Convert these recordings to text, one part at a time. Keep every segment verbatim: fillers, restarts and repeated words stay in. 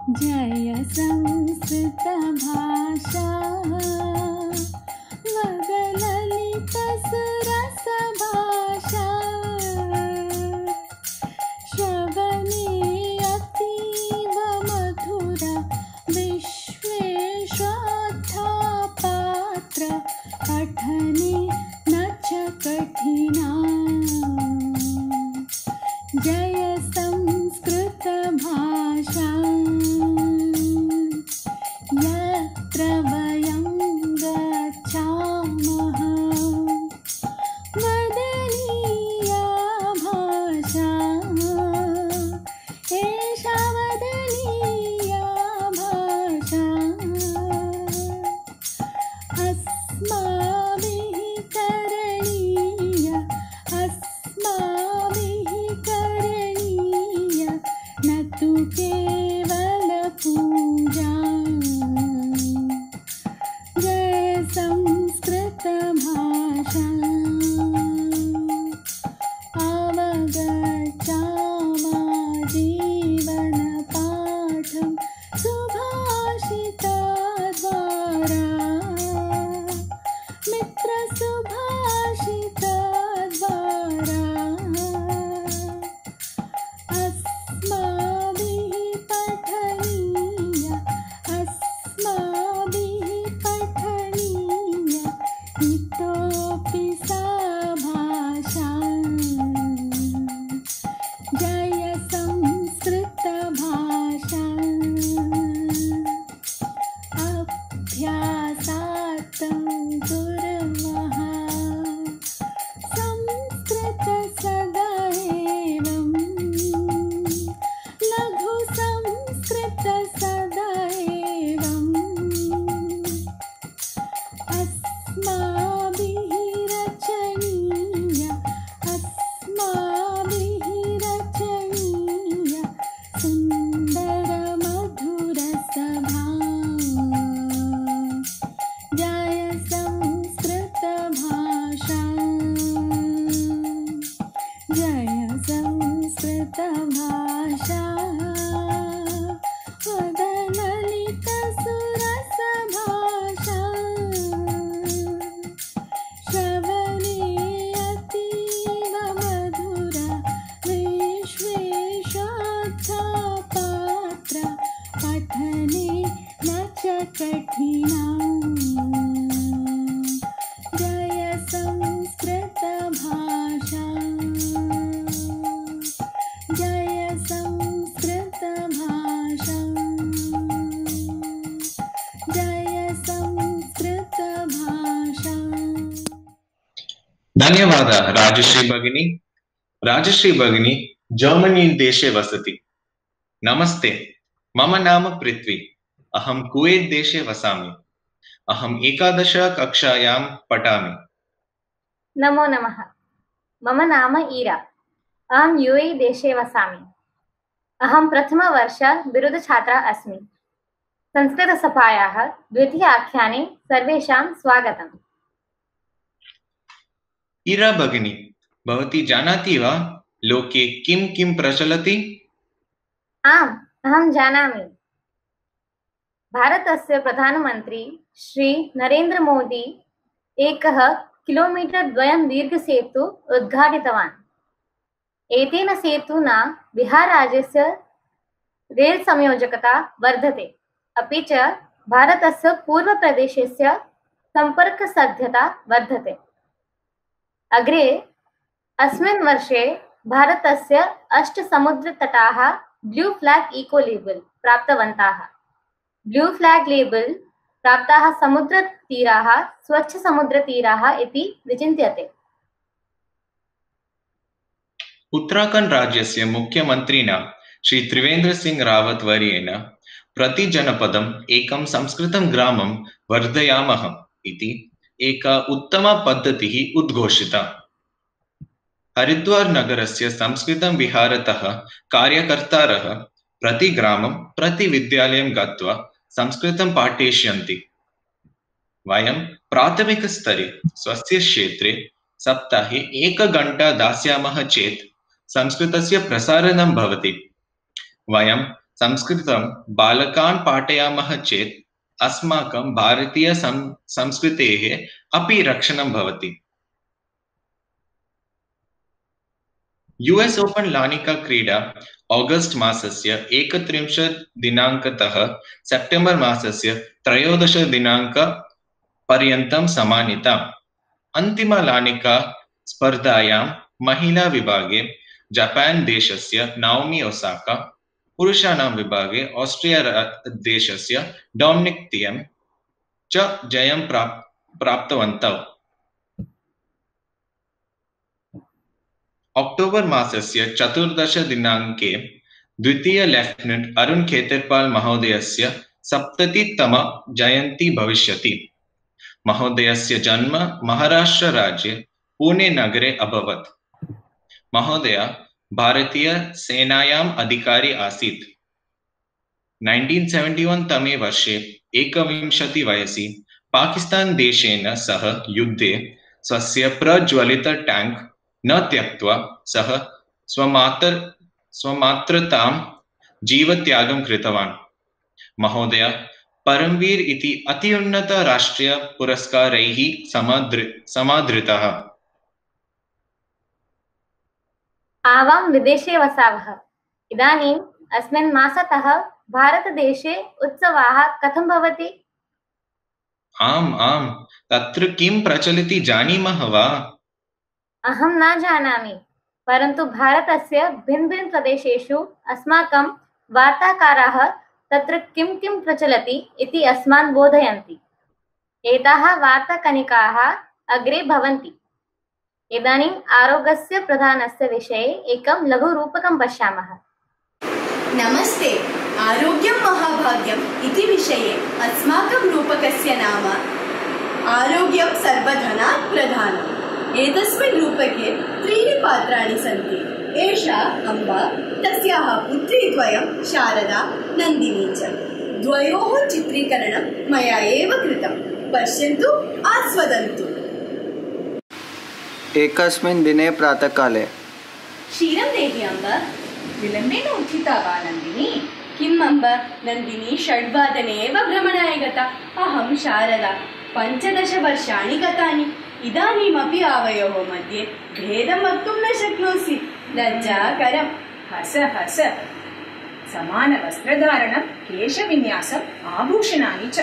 जय संस्कृत भाषा मदललित सुरस भाषा श्रवणे अतीव मधुरा विश्वेश्वाद्धा पात्र पठने न च कठिना। जय संस्कृत भाषा यत्र वयं गच्छामः वदनीया भाषा एषा वदनीया भाषा अस्माभिः करणीय अस्माभिः करणीय न तु केवल पूजा। जय संस्कृत भाषा अवगच्छामः जीवन पाठं सुभाषितद्वारा मित्र सुभाषितद्वारा अस्माभिः पठनीय अस्माभिः पठनीय इतोऽपि सा भाषा। जय संस्कृत भाषा अभ्यासार्थं कुर्मः संस्कृत सदा एवं लघु संस्कृत सदा एवं अस्माभिः रचनीय अस्माभिः रचनीय सुन्दर मधुर सभा। जय संस्कृत भाषा जय संस्कृत भाषा वदललित सुरस भाषा श्रवणे अतीव मधुरा विश्वेश्वाद्धा पात्र पठने न च कठिना। जय संस्कृत भाषा जय संस्कृत भाषा जय संस्कृत भाषा। धन्यवाद राजश्री भगिनी। राजश्री भगिनी जर्मनी देशे वसति। नमस्ते, मम नाम पृथ्वी। अहं कुवेत् देशे वसामि। अहम् एकादश कक्षायां पठामि। नमो नमः। मम नाम ईरा। अहं यू ए ई देशे वसामि। अहं प्रथमवर्ष बिरुदछात्रा अस्मि। संस्कृतसभायाः द्वितीय आख्याने सर्वेषां स्वागतम्। ईरा भगिनी, भवती जानाति वा लोके किं किं प्रचलति? आम्, अहं जानामि। भारतस्य प्रधानमन्त्री श्री नरेन्द्र मोदी एकः किलोमीटर् द्वयं दीर्घसेतु उद्घाटितवान्। एतेन सेतुना बिहारराज्यस्य रेल् संयोजकता वर्धते, अपि च भारतस्य पूर्वप्रदेशस्य सम्पर्कसाध्यता वर्धते। अग्रे अस्मिन् वर्षे भारतस्य अष्ट समुद्रतटाः ब्लू फ्लैग इको लेबल प्राप्तवन्तः। ब्लू फ्लैग लेबल प्राप्ताः समुद्रतीराः स्वच्छ समुद्रतीराः इति विचिन्त्यते। उत्तराखण्ड राज्यस्य मुख्यमन्त्रिणा श्री त्रिवेन्द्र सिंह रावत वर्येण प्रति जनपदम् एकं संस्कृतं ग्रामं वर्धयामः इति एका उत्तमा पद्धतिः उद्घोषिता। हरिद्वार नगरस्य संस्कृतं विहारतः कार्यकर्तारः प्रति ग्रामं प्रति विद्यालयं गत्वा संस्कृतं पाठयिष्यन्ति। वयं प्राथमिकस्तरे स्वस्य क्षेत्रे सप्ताहे एकघण्टा दास्यामः चेत् संस्कृतस्य प्रसारणं भवति। वयं संस्कृतं बालकान् पाठयामः चेत् अस्माकं भारतीय संस्कृतेः अपि रक्षणं भवति। यूएस् ओपन लानिका क्रीडा ऑगस्ट मासस्य एकत्रिंशत् दिनाङ्कतः सेप्टेम्बर् मासस्य त्रयोदश दिनाङ्क पर्यन्तं समानिता। अन्तिम लानिका स्पर्धायां महिला विभागे जापान देशस्य नाओमी ओसाका, पुरुषाणां विभागे ऑस्ट्रिया देशस्य डोमिनिक थिएम च जयं प्राप्तवन्तौ। अक्टोबर् मासस्य चतुर्दश दिनाङ्के द्वितीय लेफ्टिनेंट अरुण खेतरपाल महोदयस्य सप्ततितम जयन्ती भविष्यति। महोदयस्य जन्म महाराष्ट्र राज्ये पुणे नगरे अभवत्। महोदय भारतीय सेनायाम् अधिकारी आसीत्। उन्नीस सौ इकहत्तर तमे वर्षे एकविंशति वयसि पाकिस्तान देशेन सह युद्धे स्वस्य प्रज्वलित टैंक न त्यक्त्वा सः स्वमात्र स्वमात्रतां जीवत्यागं कृतवान्। महोदय परमवीर इति अत्युन्नत राष्ट्रीय पुरस्कारैः समादृतः। आवां विदेशे वसावः। इदानीम् अस्मिन् मासतः भारतदेशे उत्सवाः कथं भवति? आम् आम्, तत्र किं प्रचलति जानीमः वा? अहं न जानामि, परन्तु भारतस्य भिन्न भिन्न प्रदेशेषु अस्माकं वार्ताकाराः तत्र किं किं प्रचलति इति अस्मान् बोधयन्ति। एताः वार्ताकनिकाः अग्रे भवन्ति। इदानीम् आरोग्यस्य प्रधानस्य विषये एकं लघुरूपकं पश्यामः। नमस्ते। आरोग्यं महाभाग्यम् इति विषये अस्माकं रूपकस्य नाम आरोग्यं सर्वधनात् प्रधानम्। एतस्मिन् रूपके त्रीणि पात्राणि सन्ति। एषा अम्बा, तस्याः पुत्री द्वयं शारदा नन्दिनी च। द्वयोः चित्रीकरणं मया एव कृतं। पश्यन्तु, आस्वदन्तु। एकस्मिन् दिने प्रातःकाले क्षीरं देहि अम्ब। विलम्बेन उत्थिता वा नन्दिनी? किम् अम्ब, नन्दिनी षड्वादने एव भ्रमणाय गता। अहं शारदा पञ्चदश वर्षाणि गतानि। इदानीमपि आवयोः मध्ये भेदं वक्तुं न शक्नोसि। लज्जाकरम्। हस हस। समानवस्त्रधारणं, केशविन्यासम्, आभूषणानि च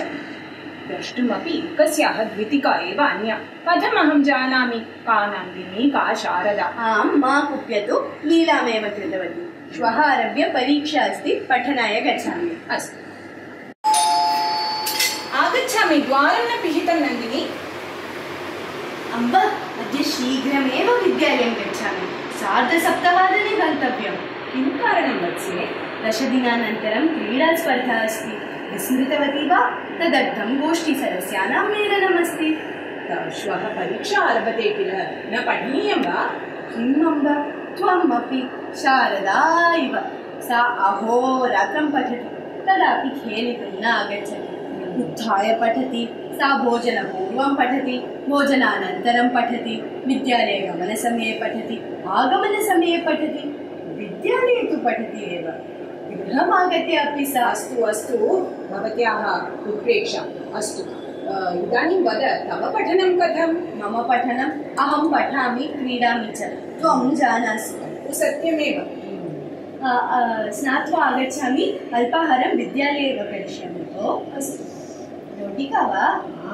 द्रष्टुमपि एकस्याः द्वितिका एव अन्या। कथमहं जानामि का नन्दिनी का शारदा? आम्, मा कुप्यतु, लीलामेव कृतवती। श्वः आरभ्य परीक्षा अस्ति, पठनाय गच्छामि। अस्तु, आगच्छामि। द्वारं न पिहितं नन्दिनी? अम्ब, अद्य शीघ्रमेव विद्यालयं गच्छामि। सार्धसप्तवादने गन्तव्यम्। किं कारणं वत्से? दशदिनानन्तरं क्रीडास्पर्धा अस्ति। विस्मृतवती वा? तदर्थं गोष्ठीसदस्यानां मेलनमस्ति। श्वः परीक्षा आरभते किल, न पठनीयं वा? किम् अम्ब, त्वम् अपि शारदा इव। सा अहोरात्रं पठति, तदापि खेलितुं न आगच्छति। उत्थाय पठति, सा भोजनपूर्वं पठति, भोजनानन्तरं पठति, विद्यालयगमनसमये पठति, आगमनसमये पठति, विद्यालये तु पठति एव। गृहमागत्य अपि सा। अस्तु अस्तु, भवत्याः उत्प्रेक्षा। अस्तु, इदानीं वद, तव पठनं कथं? मम पठनम्, अहं पठामि, क्रीडामि च। त्वं जानासि। सत्यमेव। स्नात्वा आगच्छामि, अल्पाहारं विद्यालये एव करिष्यामि। ओ अस्तु। रोटिका वा?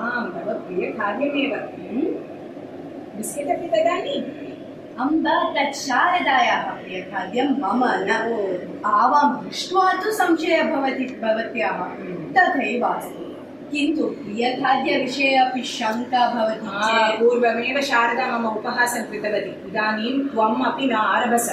आं, तव प्रियखाद्यमेव। बिस्केट् अपि ददामि? अम्ब, तत् शारदायाः प्रियखाद्यं, मम न। आवां दृष्ट्वा तु संशयः भवति भवत्याः। तथैव अस्ति, किन्तु प्रियखाद्यविषये अपि शङ्का भवति चेत्। पूर्वमेव शारदा मम उपहासं कृतवती। इदानीं त्वम् अपि न आरभस।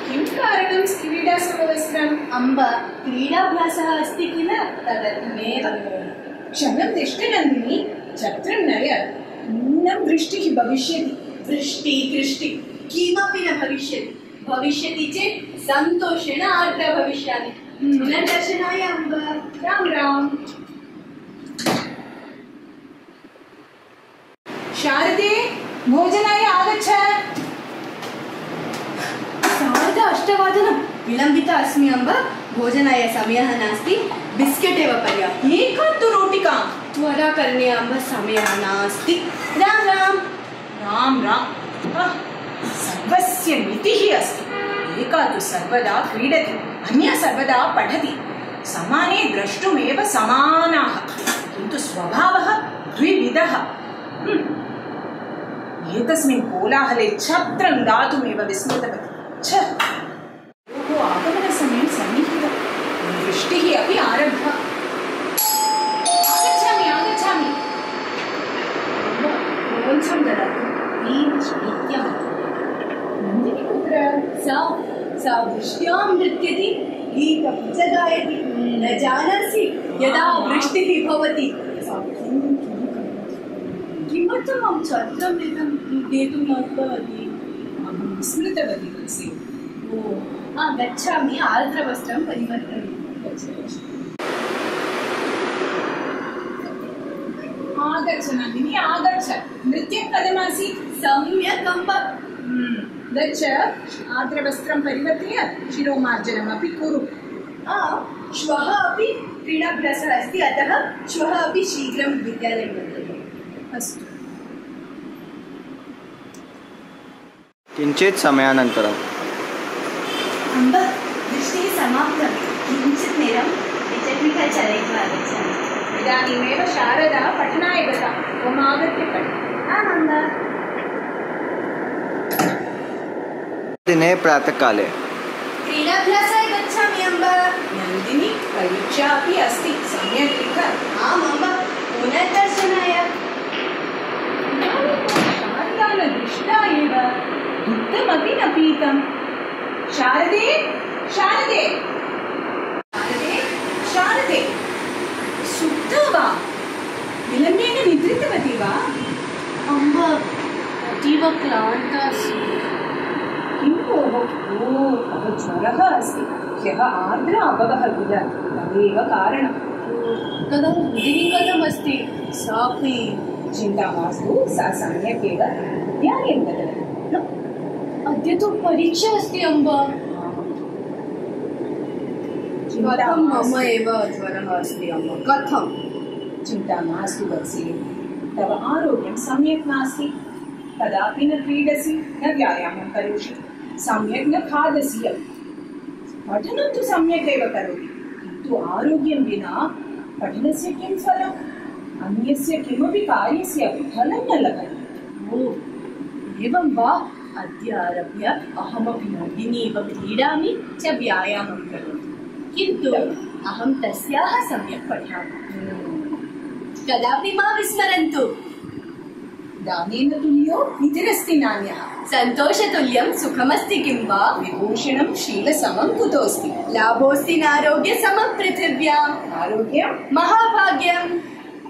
किं कारणं क्रीडासमवस्त्रम्? अम्ब, क्रीडाभ्यासः अस्ति किल, तदर्थमेव। क्षणं तिष्ठ नन्दिनी, छत्रं नय, नूनं वृष्टिः भविष्यति। वृष्टि दृष्टि किमपि न भविष्यति। भविष्यति चेत् सन्तोषेण आर्द्रा भविष्यामि। पुनर्दर्शनाय अम्ब। राम राम। शारदे, भोजनाय आगच्छ। अष्टवादनं विलम्बिता अस्मि अम्ब भोजनाय समयः नास्ति बिस्केट् एव पर्याप्तम् एकां तु रोटिकां त्वरा करणीया अम्ब समयः नास्ति राम राम राम राम आह, सर्वस्य नीतिः अस्ति एका तु सर्वदा क्रीडति अन्या सर्वदा पठति समाने द्रष्टुमेव समानाः किन्तु स्वभावः द्विविधः हम्म। एतस्मिन् कोलाहले छत्रं दातुमेव विस्मृतवती छ ओहो आगमनसमयं सन्निहितः वृष्टिः अपि आरब्धा आगच्छामि आगच्छामि रोञ्चं ददातु नीत्यं नन्दिनी कुत्र सा सा वृष्ट्यां नृत्यति गीतं च गायति न जानासि यदा वृष्टिः भवति सा किं किं करोति किमर्थम् अहं छत्रं नेतुं नेतुं न उक्तवती अहं विस्मृतवती तुलसी ओ हा गच्छामि आर्द्रवस्त्रं परिवर्तयामि आगच्छ नन्दिनी आगच्छ नृत्यं कथमासीत् सम्यक् अम्ब गच्छ आर्द्रवस्त्रं परिवर्त्य शिरोमार्जनमपि कुरु आ श्वः अपि क्रीडाभ्यासः अस्ति अतः श्वः अपि शीघ्रं विद्यालयं गन्तव्यम् अस्तु किञ्चित् समयानन्तरम् अम्ब वृष्टिः समाप्तं किञ्चित् नेरं द्विचक्रिका चालयित्वा आगच्छामि इदानीमेव शारदा पठनाय गता त्वम् आगत्य पठ आम् अम्ब दिने प्रातःकाले क्रीडाभ्यासाय गच्छामि अम्ब नन्दिनी परीक्षा अपि अस्ति सम्यक् लिख आम् अम्ब पुनर्दर्शनाय शारदा न दृष्टा एव दुग्धमपि न पीतम् शारदे शारदे शारदे शारदे सुप्ता वा विलम्बेन निद्रितवती वा अम्ब अतीव क्लान्ता अस्मि किं भोः ओ तव ज्वरः अस्ति ह्यः आर्द्र अभवः किल तदेव कारणं तदा रुदिनी कथमस्ति सापि चिन्ता मास्तु सा सम्यक् एव विद्यालयं गतवती अद्य तु परीक्षा अस्ति अम्ब कथं मम एव ज्वरः अस्ति अम्ब कथं चिन्ता मास्तु वत्से तव आरोग्यं सम्यक् नास्ति कदापि न क्रीडसि न व्यायामं करोषि सम्यक् न खादसि अपि पठनं तु सम्यक् एव करोति किन्तु आरोग्यं विना पठनस्य किं फलम् अन्यस्य किमपि कार्यस्य अपि फलं न लभते ओ एवं वा अद्य आरभ्य अहमपि नन्दिनी इव क्रीडामि च व्यायामं करोमि किन्तु अहं तस्याः सम्यक् पठामि कदापि मा विस्मरन्तु दानेन तुल्यो निधिरस्ति नान्यः सन्तोषतुल्यं सुखमस्ति किं वा विभूषणं शीलसमं कुतोऽस्ति लाभोऽस्ति नारोग्यसमं पृथिव्याम् आरोग्यं महाभाग्यं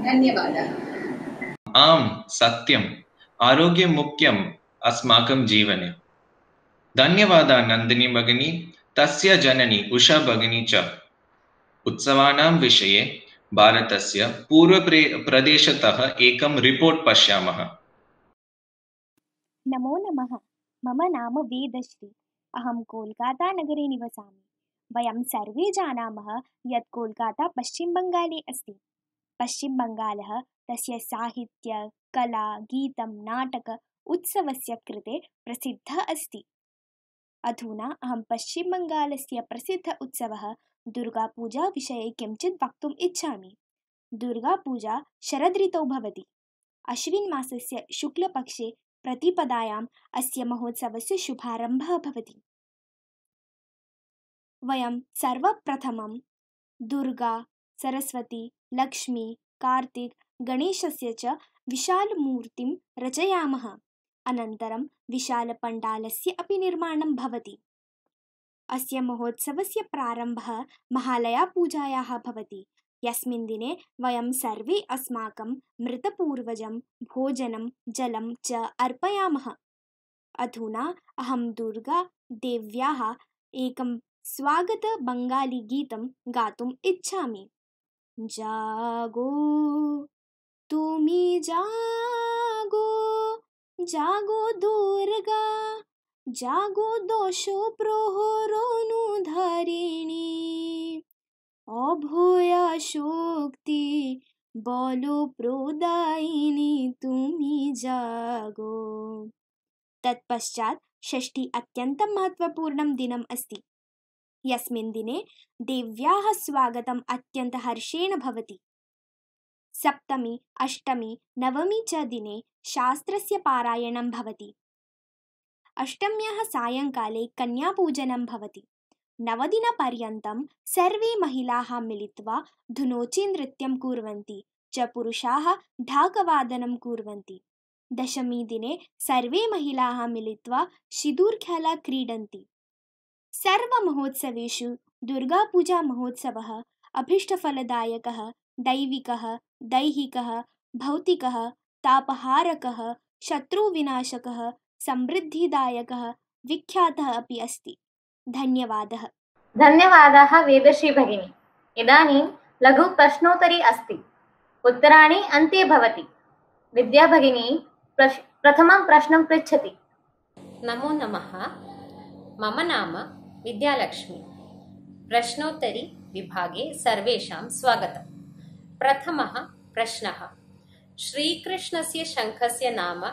धन्यवादः आम् सत्यम् आरोग्यं मुख्यम् अस्माकं जीवने धन्यवादः नन्दिनी भगिनी तस्य जननी उषा भगिनी च उत्सवानां विषये भारतस्य पूर्वप्रदेशतः एकं रिपोर्ट् पश्यामः। नमो नमः। मम नाम वेदश्री। अहं कोल्कातानगरे निवसामि। वयं सर्वे जानीमः यत् कोल्काता पश्चिमबङ्गाले अस्ति। पश्चिमबङ्गालः तस्य साहित्य, कला, गीतं, नाटक उत्सवस्य कृते प्रसिद्धः अस्ति। अधुना अहं पश्चिमबङ्गालस्य प्रसिद्ध उत्सवः दुर्गापूजा विषये किञ्चित् वक्तुम् इच्छामि। दुर्गापूजा शरदृतौ भवति। अश्विन् मासस्य शुक्लपक्षे प्रतिपदायाम् अस्य महोत्सवस्य शुभारम्भः भवति। वयं सर्वप्रथमं दुर्गा, सरस्वती, लक्ष्मी, कार्तिक, गणेशस्य च विशालमूर्तिं रचयामः। अनन्तरं विशालपण्डालस्य अपि निर्माणं भवति। अस्य महोत्सवस्य प्रारम्भः महालयापूजायाः भवति, यस्मिन् दिने वयं सर्वे अस्माकं मृतपूर्वजं भोजनं जलं च अर्पयामः। अधुना अहं दुर्गा देव्याः एकं स्वागतबङ्गालीगीतं गातुम् इच्छामि। जागो तुमी जागो जागो दुर्गा जागो दोषो प्रहरोनुधारिणी अभया शक्ति बलो प्रदायिनी तुमी जागो। तत्पश्चात् षष्ठी अत्यन्तं महत्त्वपूर्णं दिनम् अस्ति। यस्मिन् दिने देव्याः स्वागतम् अत्यन्तहर्षेण भवति। सप्तमी अष्टमी नवमी च दिने शास्त्रस्य पारायणं भवति। अष्टम्याः सायङ्काले कन्यापूजनं भवति। नवदिनपर्यन्तं सर्वे महिलाः मिलित्वा धुनोचि नृत्यं कुर्वन्ति च पुरुषाः ढाकवादनं कुर्वन्ति। दशमी दिने सर्वे महिलाः मिलित्वा सिदूर्खेला क्रीडन्ति। सर्वमहोत्सवेषु दुर्गापूजामहोत्सवः अभीष्टफलदायकः, दैविकः, दैहिकः, भौतिकः, तापहारकः, शत्रुविनाशकः, समृद्धिदायकः, विख्यातः अपि अस्ति। धन्यवादः। धन्यवादाः वेदश्री भगिनी। इदानीं लघु प्रश्नोत्तरी अस्ति। उत्तराणि अन्ते भवति। विद्या भगिनी प्रश् प्रथमं प्रश्नं पृच्छति। नमो नमः। मम नाम विद्यालक्ष्मी। प्रश्नोत्तरी विभागे सर्वेषां स्वागतम्। प्रथमः प्रश्नः। श्रीकृष्णस्य शङ्खस्य नाम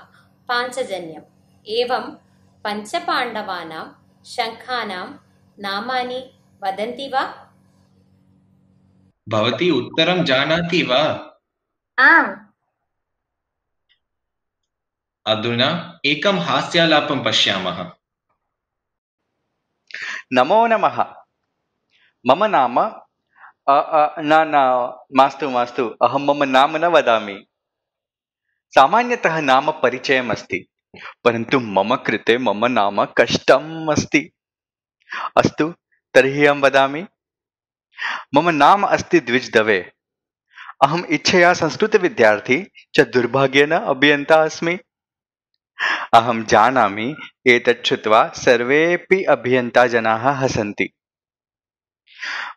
पाञ्चजन्यम्। एवं पञ्चपाण्डवानां शङ्खानां नामानि वदन्ति वा? भवती उत्तरं जानाति वा? आम्। अधुना एकं हास्यालापं पश्यामः। नमो नमः। मम नाम अ अ न न मास्तु मास्तु अहं मम नाम न वदामि। सामान्यतः नाम परिचयम् अस्ति, परन्तु मम कृते मम नाम कष्टम् अस्ति। अस्तु, तर्हि अहं वदामि। मम नाम अस्ति द्विज दवे। अहम् इच्छया संस्कृतविद्यार्थी च दुर्भाग्येन अभियन्ता अस्मि। अहं जानामि एतत् श्रुत्वा सर्वेऽपि अभियन्ताजनाः हसन्ति।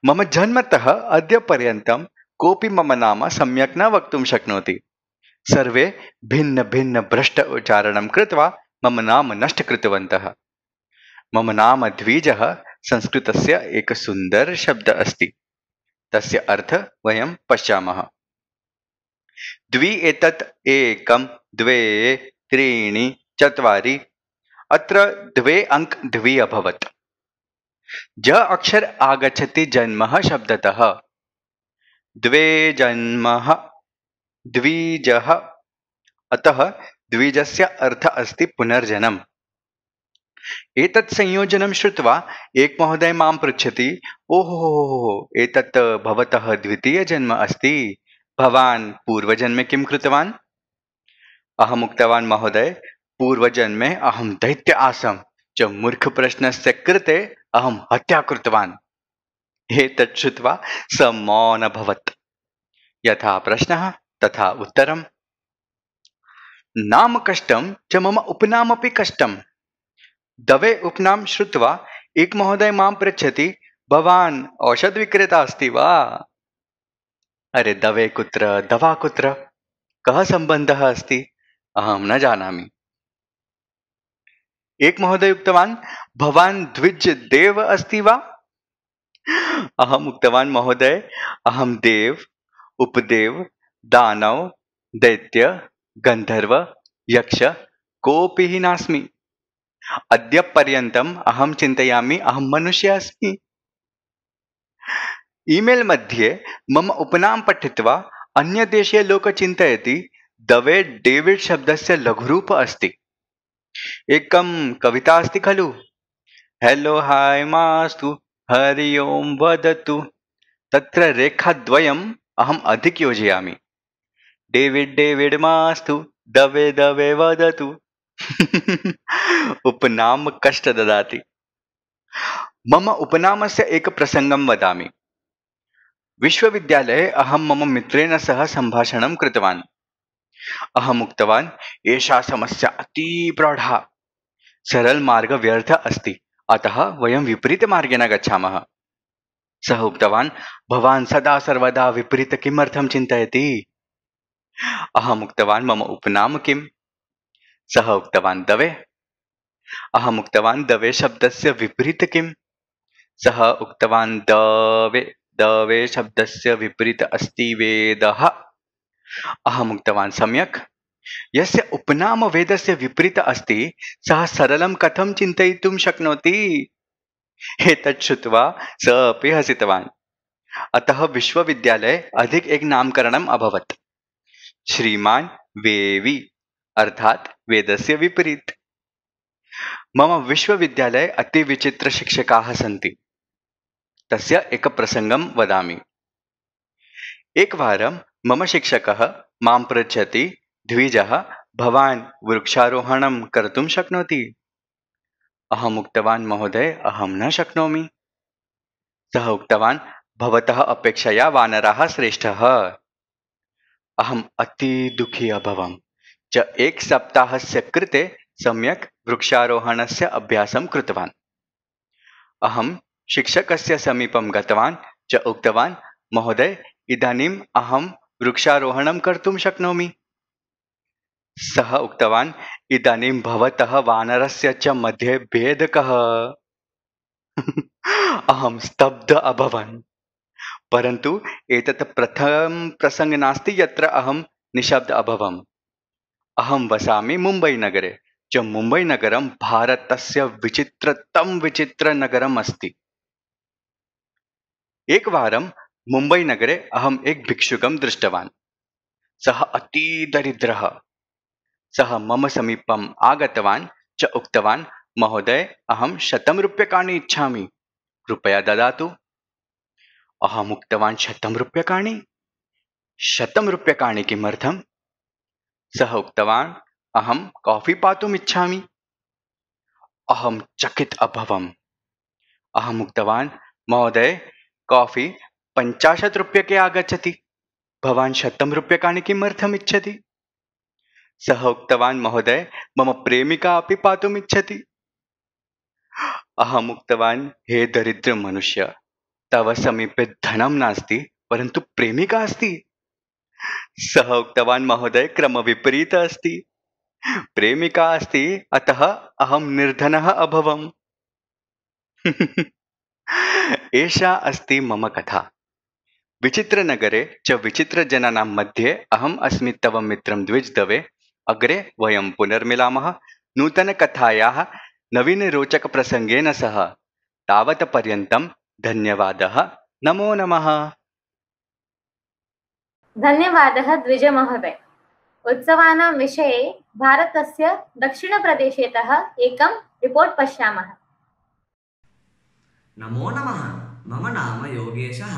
मम जन्मतः अद्य पर्यन्तं कोऽपि मम नाम सम्यक् न वक्तुं शक्नोति। सर्वे भिन्न भिन्न भ्रष्ट उच्चारणं कृत्वा मम नाम नष्ट कृतवन्तः। मम नाम द्विजः संस्कृतस्य एकः सुन्दरः शब्दः अस्ति। तस्य अर्थः वयं पश्यामः। द्वि एतत् एकं, द्वे, त्रीणि, चत्वारि। अत्र द्वे अङ्क द्वि अभवत्। ज अक्षर आगच्छति जन्मः शब्दतः। द्वे जन्मः, द्विजः। अतः द्विजस्य अर्थः अस्ति पुनर्जन्म। एतत् संयोजनं श्रुत्वा एक महोदय मां पृच्छति, ओहो एतत् भवतः द्वितीयजन्म अस्ति। भवान् पूर्वजन्मे किं कृतवान्? अहम् उक्तवान्, महोदय पूर्वजन्मे अहं दैत्य आसम् च मूर्खप्रश्नस्य कृते अहं हत्या कृतवान्। एतत् श्रुत्वा स मौन अभवत्। यथा प्रश्नः तथा उत्तरम्। नाम कष्टं च मम उपनामपि कष्टम्। दवे उपनाम श्रुत्वा एक महोदय मां पृच्छति, भवान् औषधविक्रेता अस्ति वा? अरे दवे कुत्र, दवा कुत्र, कः सम्बन्धः अस्ति? अहं न जानामि। एक महोदय उक्तवान्, भवान् द्विज देव अस्ति वा? अहम् उक्तवान्, महोदय अहं देव, उपदेव, दानव, दैत्य, गन्धर्व, यक्ष कोऽपि हि नास्मि। अद्य पर्यन्तम् अहं चिन्तयामि अहं मनुष्यः अस्मि। ईमेल् मध्ये मम उपनाम पठित्वा अन्यदेशीय लोकः चिन्तयति दवे डेविड् शब्दस्य लघुरूप अस्ति। एकं कविता अस्ति खलु, हेलो हाय मास्तु हरि ओं वदतु। तत्र रेखाद्वयम् अहम् अधिक योजयामि। डेविड् डेविड् मास्तु दवे दवे वदतु। उपनाम कष्ट ददाति। मम उपनामस्य एक प्रसङ्गं वदामि। विश्वविद्यालये अहं मम मित्रेण सह सम्भाषणं कृतवान्। अहम् उक्तवान्, एषा समस्या अति प्रौढा, सरलमार्गः व्यर्थः अस्ति, अतः वयं विपरीतमार्गेण गच्छामः। सः उक्तवान्, भवान् सदा सर्वदा विपरीत किमर्थं चिन्तयति? अहम् उक्तवान्, मम उपनाम किम्? सः उक्तवान्, दवे। अहम् उक्तवान् दवे शब्दस्य विपरीत किम्? सः उक्तवान् दवे दवे शब्दस्य विपरीत अस्ति वेदः। अहम् उक्तवान् सम्यक्। यस्य उपनाम वेदस्य विपरीत अस्ति सः सरलं कथं चिन्तयितुं शक्नोति? एतत् श्रुत्वा सः अपि हसितवान्। अतः विश्वविद्यालये अधिक एक नामकरणम् अभवत्। श्रीमान् वेवी अर्थात् वेदस्य विपरीत। मम विश्वविद्यालये अति विचित्र शिक्षकाः सन्ति। तस्य एक प्रसङ्गं वदामि। एकवारं मम शिक्षकः मां पृच्छति, द्विजः भवान् वृक्षारोहणं कर्तुं शक्नोति? अहम् उक्तवान् महोदय अहं न शक्नोमि। सः उक्तवान् भवतः अपेक्षया वानराः श्रेष्ठः। अहम् अति दुःखी अभवम् च एक सप्ताहस्य कृते सम्यक् वृक्षारोहणस्य अभ्यासं कृतवान्। अहं शिक्षकस्य समीपं गतवान् च उक्तवान् महोदय इदानीम् अहं वृक्षारोहणं कर्तुं शक्नोमि। सः उक्तवान् इदानीं भवतः वानरस्य च मध्ये भेदः कः? अहं स्तब्ध अभवन्। परन्तु एतत् प्रथमं प्रसङ्गः नास्ति यत्र अहं निशब्द अभवम्। अहं वसामि मुम्बैनगरे च मुम्बैनगरं भारतस्य विचित्रतमं विचित्रनगरम् अस्ति। एकवारं मुम्बैनगरे अहम् एक भिक्षुकं दृष्टवान्। सः अति दरिद्रः। सः मम समीपम् आगतवान् च उक्तवान् महोदय अहं शतं रूप्यकाणि इच्छामि, कृपया ददातु। अहम् उक्तवान् शतं रूप्यकाणि? शतं रूप्यकाणि किमर्थम्? सः उक्तवान् अहं काफी पातुम् इच्छामि। अहं चकित अभवम्। अहम् उक्तवान् महोदय काफी पञ्चाशत् रूप्यके आगच्छति, भवान् शतं रूप्यकाणि किमर्थम् इच्छति? सः उक्तवान् महोदय मम प्रेमिका अपि पातुम् इच्छति। अहम् उक्तवान् हे दरिद्र मनुष्य, तव समीपे धनं नास्ति परन्तु प्रेमिका अस्ति। सः उक्तवान् महोदय क्रमविपरीतः अस्ति। प्रेमिका अस्ति अतः अहं निर्धनः अभवम्। एषा अस्ति मम कथा। विचित्रनगरे च विचित्रजनानां मध्ये अहम् अस्मि तव मित्रं द्विज दवे। अग्रे वयं पुनर्मिलामः नूतनकथायाः नवीनरोचकप्रसङ्गेन सह। तावत् पर्यन्तं धन्यवादः। नमो नमः। धन्यवादः द्विज महोदय। उत्सवानां विषये भारतस्य दक्षिणप्रदेशतः एकं रिपोर्ट् पश्यामः। नमो नमः। मम नाम योगेशः।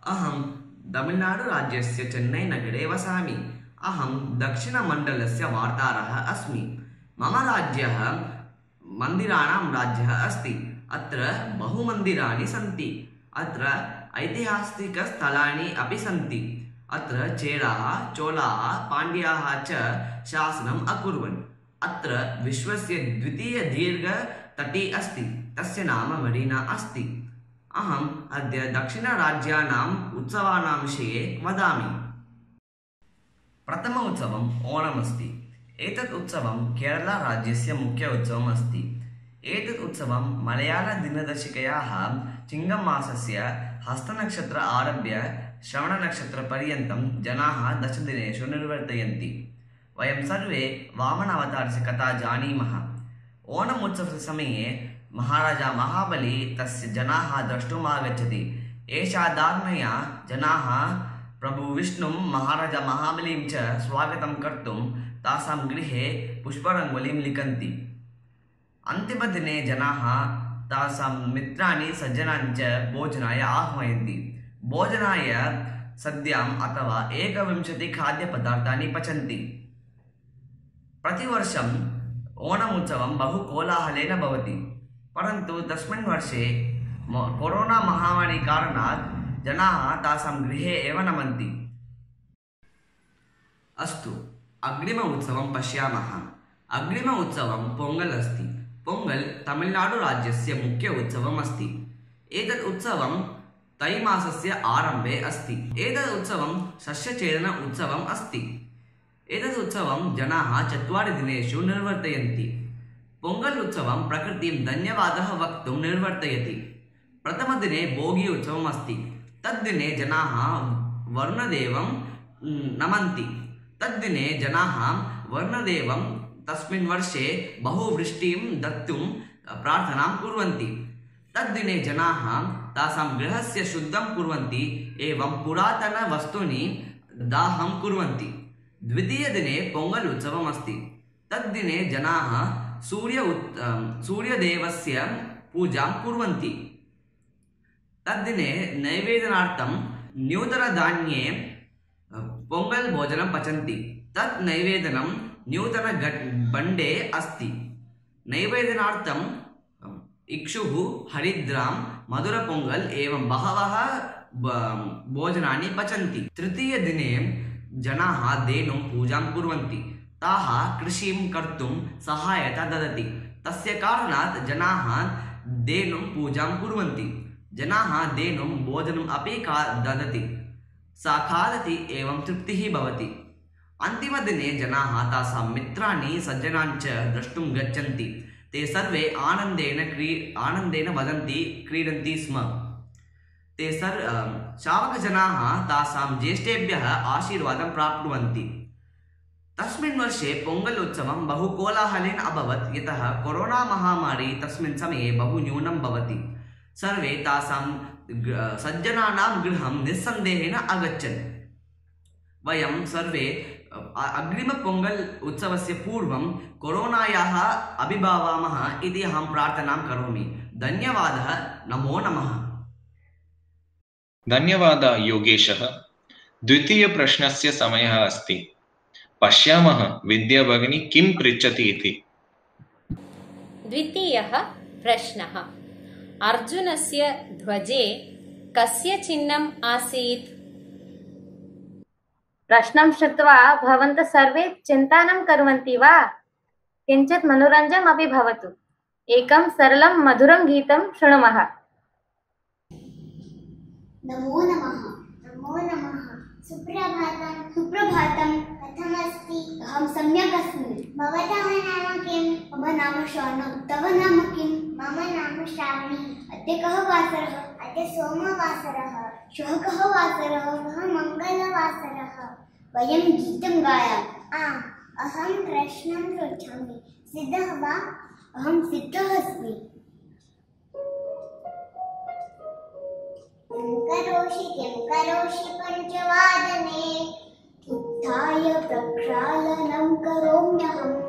अहं तमिळ्नाडुराज्यस्य चेन्नैनगरे वसामि। अहं दक्षिणमण्डलस्य वार्ताहरः अस्मि। मम राज्यः मन्दिराणां राज्यः अस्ति। अत्र बहुमन्दिराणि सन्ति। अत्र ऐतिहासिकस्थलानि अपि सन्ति। अत्र चेराः, चोलाः, पाण्ड्याः च शासनम् अकुर्वन्। अत्र विश्वस्य द्वितीयदीर्घतटी अस्ति। तस्य नाम मरीना अस्ति। अहम् अद्य दक्षिणराज्यानाम् उत्सवानां विषये वदामि। प्रथम उत्सवम् ओणम् अस्ति। एतत् उत्सवं केरळराज्यस्य मुख्य उत्सवम् अस्ति। एतत् उत्सवं मलयाळदिनदर्शिकायाः चिङ्गमासस्य हस्तनक्षत्र आरभ्य श्रवणनक्षत्रपर्यन्तं जनाः दशदिनेषु निर्वर्तयन्ति। वयं सर्वे वामन अवतारस्य कथा जानीमः। ओणम् उत्सवस्य समये महाराजा महाबली तस्य जनाः द्रष्टुम् आगच्छति। एषा धारणया जनाः प्रभु विष्णुं महाराजा महाबलीं च स्वागतं कर्तुं तासां गृहे पुष्परङ्गोलीं लिखन्ति। अन्तिमदिने जनाः तासां मित्राणि सज्जनान् च भोजनाय आह्वयन्ति। भोजनाय सद्याम् अथवा एकविंशति खाद्यपदार्थानि पचन्ति। प्रतिवर्षम् ओणम् उत्सवं बहु कोलाहलेन भवति। परन्तु तस्मिन् वर्षे कोरोना महामारी कारणात् जनाः तासां गृहे एव नमन्ति। अस्तु अग्रिम उत्सवं पश्यामः। अग्रिम उत्सवं पोङ्गल् अस्ति। पोङ्गल् तमिळ्नाडुराज्यस्य मुख्य उत्सवम् अस्ति। एतत् उत्सवं तैमासस्य आरम्भे अस्ति। एतत् उत्सवं सस्यचेदन उत्सवम् अस्ति। एतत् उत्सवं जनाः चत्वारि दिनेषु निर्वर्तयन्ति। पोङ्गल् उत्सवं प्रकृतिं धन्यवादः वक्तुं निर्वर्तयति। प्रथमदिने भोगी उत्सवम् अस्ति। तद्दिने जनाः वर्णदेवं नमन्ति। तद्दिने जनाः वर्णदेवं तस्मिन् वर्षे बहुवृष्टिं दत्तुं प्रार्थनां कुर्वन्ति। तद्दिने जनाः तासां गृहस्य शुद्धं कुर्वन्ति एवं पुरातनवस्तूनि दाहं कुर्वन्ति। द्वितीयदिने पोङ्गल् उत्सवम् अस्ति। तद्दिने जनाः सूर्य सूर्यदेवस्य पूजां कुर्वन्ति। तद्दिने नैवेदनार्थं नूतनधान्ये पोङ्गल् भोजनं पचन्ति। तत् नैवेदनं नूतनबण्डे अस्ति। नैवेदनार्थं इक्षुः, हरिद्रां, मधुरपोङ्गल् एवं बहवः भोजनानि पचन्ति। तृतीयदिने जनाः धेनुं पूजां कुर्वन्ति। ताः कृषिं कर्तुं सहायता ददति। तस्य कारणात् जनाः धेनुं पूजां कुर्वन्ति। जनाः धेनुं भोजनम् अपि का ददति। सा खादति एवं तृप्तिः भवति। अन्तिमदिने जनाः तासां मित्राणि सज्जनान् च द्रष्टुं गच्छन्ति। ते सर्वे आनन्देन क्री आनन्देन वदन्ति, क्रीडन्ति स्म। ते सर् शावकजनाः तासां ज्येष्ठेभ्यः आशीर्वादं प्राप्नुवन्ति। तस्मिन् वर्षे पोङ्गल् उत्सवं बहु कोलाहलेन अभवत्, यतः कोरोना महामारी तस्मिन् समये बहु न्यूनं भवति। सर्वे तासां सज्जनानां गृहं निस्सन्देहेन अगच्छन्। वयं सर्वे अग्रिमपोङ्गल् उत्सवस्य पूर्वं कोरोनायाः अभिभावामः इति अहं प्रार्थनां करोमि। धन्यवादः। नमो नमः। धन्यवादः योगेशः। द्वितीयप्रश्नस्य समयः अस्ति। पश्यामः विद्या भगिनी किं पृच्छति इति। द्वितीयः प्रश्नः। अर्जुनस्य ध्वजे कस्य चिह्नम् आसीत्? प्रश्नं श्रुत्वा भवन्तः सर्वे चिन्ता न कुर्वन्ति वा? किञ्चित् मनोरञ्जनम् अपि भवतु। एकं सरलं मधुरं गीतं शृणुमः। नमो नमः। नमो नमः। सुप्रभातं। सुप्रभातं। कथमस्ति? अहं सम्यक् अस्मि। भवतः नाम किं? मम नाम श्रावणी। तव नाम किं? मम नाम श्रावणी। अद्य कः वासरः? अद्य सोमवासरः। श्वः कः वासरः? श्वः मङ्गलवासरः। वयं गीतं गायामः। आम्, अहं प्रश्नं पृच्छामि। सिद्धः वा? अहं सिद्धः अस्मि। किं करोषि किं करोषि पञ्चवादने? उत्थाय प्रक्षालनं करोम्यहम्।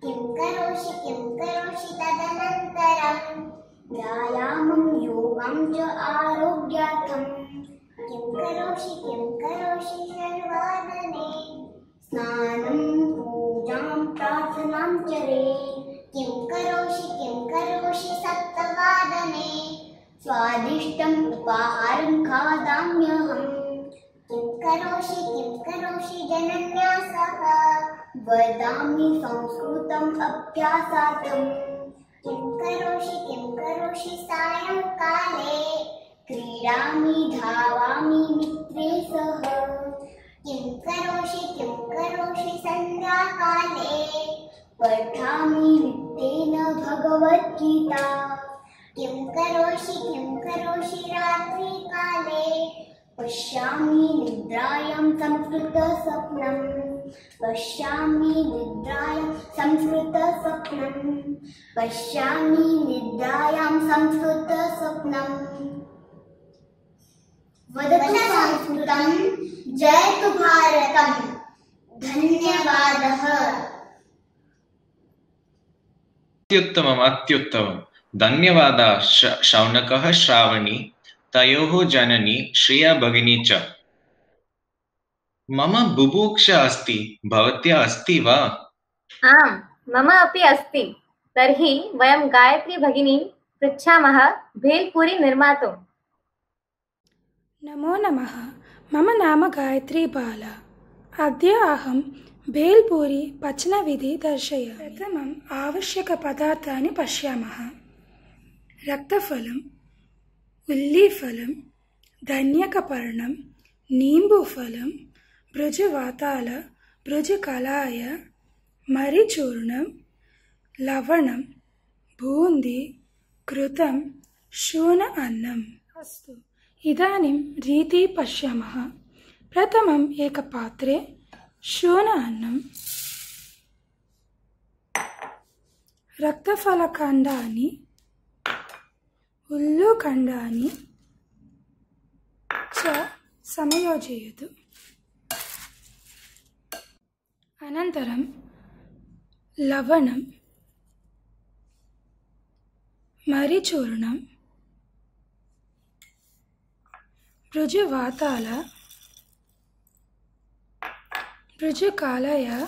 किं करोषि किं करोषि तदनन्तरम्? व्यायामं योगं च आरोग्यार्थम्। किं करोषि किं करोषि षड्वादने? स्नानं पूजां प्रार्थनां चरे। किं करोषि किं करोषि सप्तवादने? स्वादिष्टम् उपाहारं खादाम्यहम्। किं करोषि किं करोषि जनन्यासः? वदामि संस्कृतम् अभ्यासार्थम्। किं करोषि किं करोषि सायंकाले? क्रीडामि धावामि मित्रे सह। किं करोषि किं करोषि सन्ध्याकाले? पठामि नित्येन भगवद्गीता। किं करोषि किं करोषि रात्रिकाले? पश्यामि निद्रायां संस्कृतस्वप्नम्। पश्यामि निद्रायां संस्कृतस्वप्नम्। पश्यामि निद्रायां संस्कृतस्वप्नम्। वदतु संस्कृतं, जयतु भारतम्। धन्यवादः। अत्युत्तमम् अत्युत्तमम्। धन्यवादः शौनकः, श्रावणी, तयोः जननी श्रेया भगिनी च। मम बुभुक्षा अस्ति। भवत्या अस्ति वा? आम्, मम अपि अस्ति। तर्हि वयं गायत्री भगिनीं पृच्छामः भेल्पूरी निर्मातुम्। नमो नमः। मम नाम गायत्री बाला। अद्य अहं भेल्पूरी पचनविधि दर्शयामि। प्रथमम् आवश्यकपदार्थानि पश्यामः। रक्तफलम्, उल्लीफलं, धनियकपर्णं, नीम्बुफलं, भृजवाताल, भृजकलाय, मरिचूर्णं, लवणं बून्दी घृतं शून अन्नम्। अस्तु, इदानीं रीतिः पश्यामः। प्रथमम् एकपात्रे शून अन्नं, रक्तफलखण्डानि, उल्लुखण्डानि च संयोजयतु। अनन्तरं लवणं, मरीचूर्णं, मृजुवाताल, मृजुकालय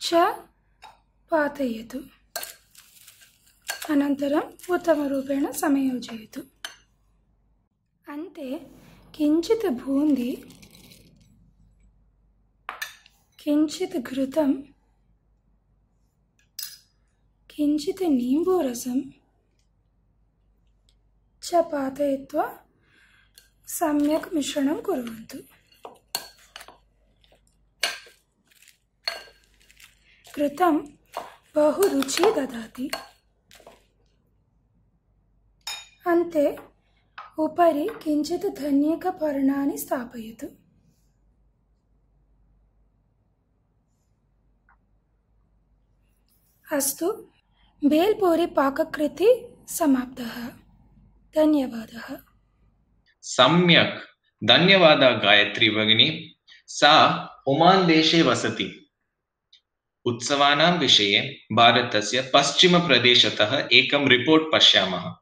च पातयतु। अनन्तरम् उत्तमरूपेण संयोजयतु। अन्ते किञ्चित् बून्दी, किञ्चित् घृतं, किञ्चित् नीम्बूरसं च पातयित्वा सम्यक् मिश्रणं कुर्वन्तु। घृतं बहु रुचिः ददाति। अन्ते उपरि किञ्चित् धनिकपर्णानि स्थापयतु। अस्तु, भेल्पूरी पाककृतिः समाप्तः। धन्यवादः। सम्यक्, धन्यवादः गायत्री भगिनी। सा ओमान् देशे वसति। उत्सवानां विषये भारतस्य पश्चिमप्रदेशतः एकं रिपोर्ट् पश्यामः।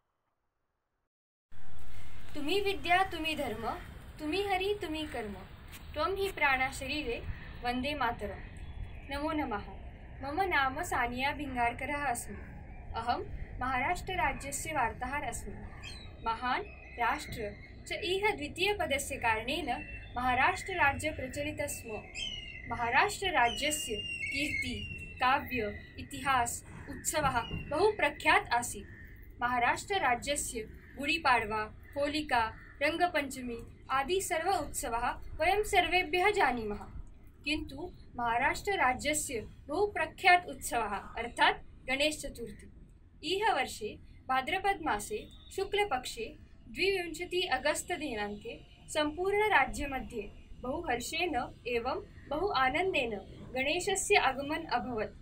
तुमी विद्या तुमी धर्म, तुमी हरि तुमी कर्म, त्वं हि प्राणः शरीरे, वन्दे मातरम्। नमो नमः। मम नाम सानिया भिङ्गारकरः अस्मि। अहं महाराष्ट्रराज्यस्य वार्ताहर अस्मि। महान् राष्ट्र च इह द्वितीयपदस्य कारणेन महाराष्ट्रराज्यं प्रचलितं स्म। महाराष्ट्रराज्यस्य कीर्ति, काव्य, इतिहास, उत्सवः बहु प्रख्यात आसीत्। महाराष्ट्रराज्यस्य गुडीपाड्वा, होलिका, रङ्गपञ्चमी आदि सर्व उत्सवाः वयं सर्वेभ्यः जानीमः। किन्तु महाराष्ट्रराज्यस्य बहु प्रख्यात उत्सवः अर्थात् गणेशचतुर्थी। इह वर्षे भाद्रपदमासे शुक्लपक्षे द्वाविंशति अगस्त दिनाङ्के सम्पूर्णराज्यमध्ये बहु हर्षेण एवं बहु आनन्देन गणेशस्य आगमनम् अभवत्।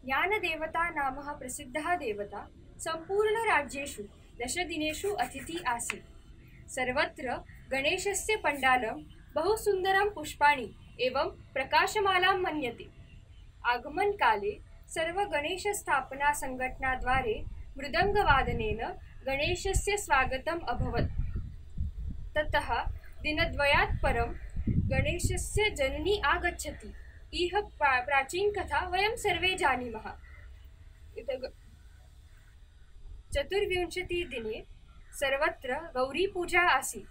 ज्ञानदेवता नाम प्रसिद्धः देवता सम्पूर्णराज्येषु दशदिनेषु अतिथिः आसीत्। सर्वत्र गणेशस्य पण्डालं बहु सुन्दरं पुष्पाणि एवं प्रकाशमालां मन्यते। आगमनकाले सर्वगणेशस्थापनासङ्घटनाद्वारे मृदङ्गवादनेन गणेशस्य स्वागतम् अभवत्। ततः दिनद्वयात् परं गणेशस्य जननी आगच्छति। इह प्रा प्राचीनकथा वयं सर्वे जानीमः। चतुर्विंशतिदिने सर्वत्र गौरीपूजा आसीत्।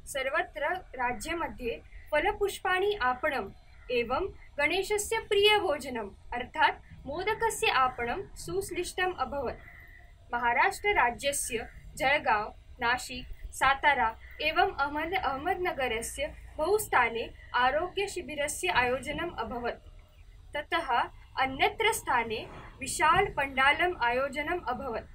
सर्वत्र राज्यमध्ये फलपुष्पाणि आपणम् एवं गणेशस्य प्रियभोजनम् अर्थात् मोदकस्य आपणं सुश्लिष्टम् अभवत्। महाराष्ट्रराज्यस्य जळगाव्, नाशिक, सातारा एवं अहमद अहमदनगरस्य बहुस्थाने आरोग्यशिबिरस्य आयोजनम् अभवत्। ततः अन्यत्र स्थाने विशालपण्डालम् आयोजनम् अभवत्।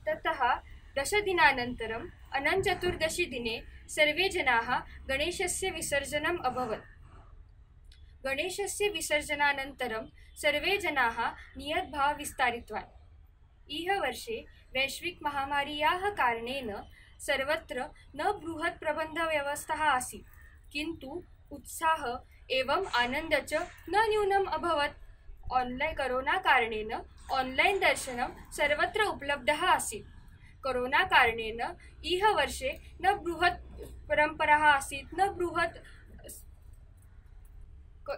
ततः दशदिनानन्तरम् अनन्तचतुर्दशीदिने सर्वे जनाः गणेशस्य विसर्जनम् अभवत्। गणेशस्य विसर्जनानन्तरं सर्वे जनाः नियतभावं विस्तारितवान्। इह वर्षे वैश्विकमहामार्याः कारणेन सर्वत्र न बृहत् प्रबन्धव्यवस्था आसीत्, किन्तु उत्साहः एवं आनन्दः च न न्यूनम् अभवत्। ऑनलाइन कोरोना कारणेन ऑनलाइन दर्शनं सर्वत्र उपलब्धः आसीत्। कोरोना कारणेन इह वर्षे न बृहत् परम्परा आसीत् न बृहत्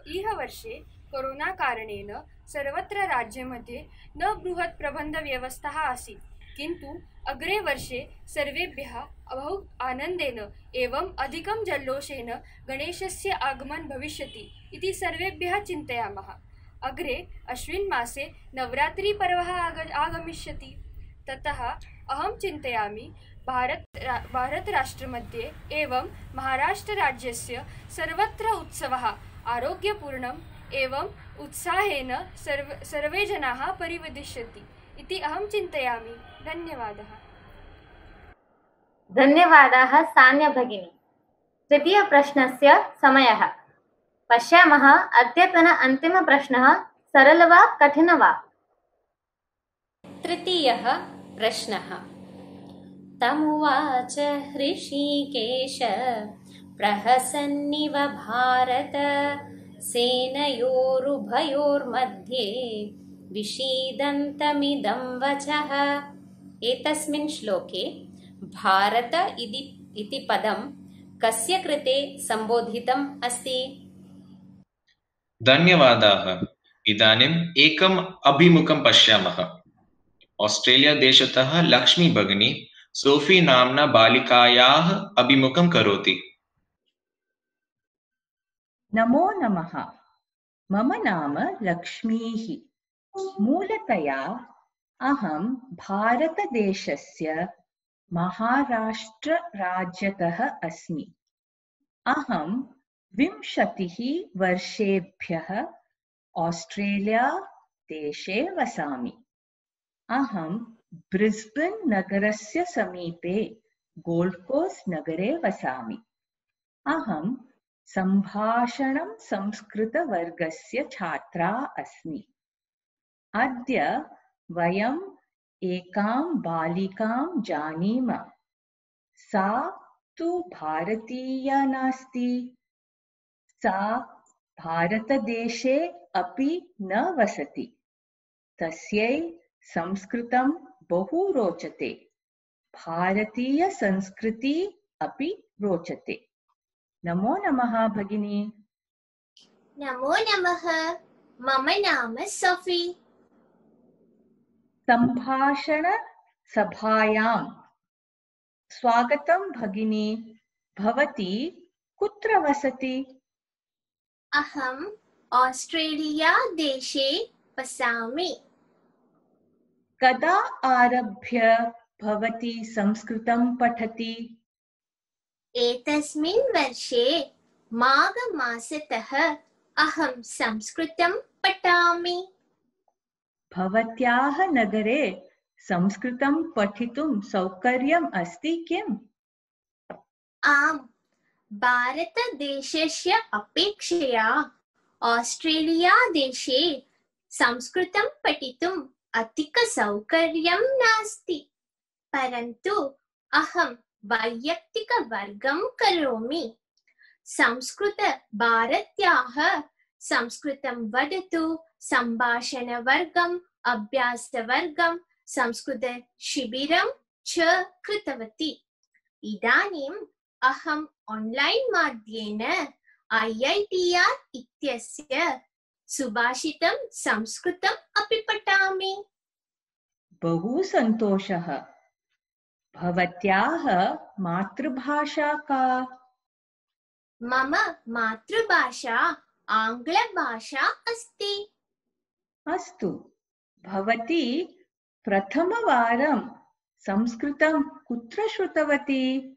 इह वर्षे कोरोना कारणेन सर्वत्र राज्यमध्ये न बृहत् प्रबन्धव्यवस्था आसीत्, किन्तु अग्रे वर्षे सर्वेभ्यः बहु आनन्देन एवं अधिकं जल्लोषेण गणेशस्य आगमनं भविष्यति इति सर्वेभ्यः चिन्तयामः। अग्रे अश्विन मासे नवरात्रिपर्वः आग आगमिष्यति। ततः अहं चिन्तयामि भारत भारतराष्ट्रमध्ये एवं महाराष्ट्रराज्यस्य सर्वत्र उत्सवः आरोग्यपूर्णम् एवं उत्साहेन सर्व सर्वे जनाः परिवेदिष्यन्ति इति अहं चिन्तयामि। धन्यवादः। धन्यवादाः सान्या भगिनी। तृतीयप्रश्नस्य समयः। पश्यामः अद्यतन अन्तिमप्रश्नः सरल वा कठिन वा? तृतीयः प्रश्नः। तमुवाच हृषीकेश प्रहसन्निव भारत सेनयोरुभयोर्मध्ये विषीदन्तमिदं वचः। एतस्मिन् श्लोके भारत इति इति पदं कस्य कृते सम्बोधितम् अस्ति? धन्यवादाः। इदानीम् एकम् अभिमुखं पश्यामः। ऑस्ट्रेलिया देशतः लक्ष्मी भगिनी सोफी नाम्ना बालिकायाः अभिमुखं करोति। नमो नमः। मम नाम लक्ष्मीः। मूलतया अहं भारतदेशस्य महाराष्ट्रराज्यतः अस्मि। अहं विंशतिः वर्षेभ्यः ऑस्ट्रेलिया देशे वसामि। अहं ब्रिस्बेन् नगरस्य समीपे गोल्ड् कोस्ट नगरे वसामि। अहं सम्भाषणं संस्कृतवर्गस्य छात्रा अस्मि। अद्य वयम् एकां बालिकां जानीम। सा तु भारतीया नास्ति। सा भारतदेशे अपि न वसति। तस्यै संस्कृतं बहु रोचते। भारतीयसंस्कृति अपि रोचते। नमो नमः भगिनी। नमो नमः। मम नाम सोफी। सम्भाषणसभायां स्वागतं भगिनी। भवती कुत्र वसति? अहम् ऑस्ट्रेलिया देशे वसामि। कदा आरभ्य भवती संस्कृतं पठति? एतस्मिन् वर्षे माघमासतः अहं संस्कृतं पठामि। भवत्याः नगरे संस्कृतं पठितुं सौकर्यम् अस्ति किम्? आम्, भारतदेशस्य अपेक्षया ऑस्ट्रेलिया देशे संस्कृतं पठितुम् अधिकसौकर्यं नास्ति। परन्तु अहं वैयक्तिकवर्गं करोमि। संस्कृतभारत्याः संस्कृतं वदतु सम्भाषणवर्गम्, अभ्यासवर्गं, संस्कृतशिबिरं च कृतवती। इदानीम् अहम् ऑनलाइन माध्यमेन ऐ ऐ टी आर् इत्यस्य सुभाषितं संस्कृतम् अपि पठामि। बहु सन्तोषः। भवत्याः मातृभाषा का? मम मातृभाषा आङ्ग्लभाषा अस्ति। अस्तु, भवती प्रथमवारं संस्कृतं कुत्र श्रुतवती?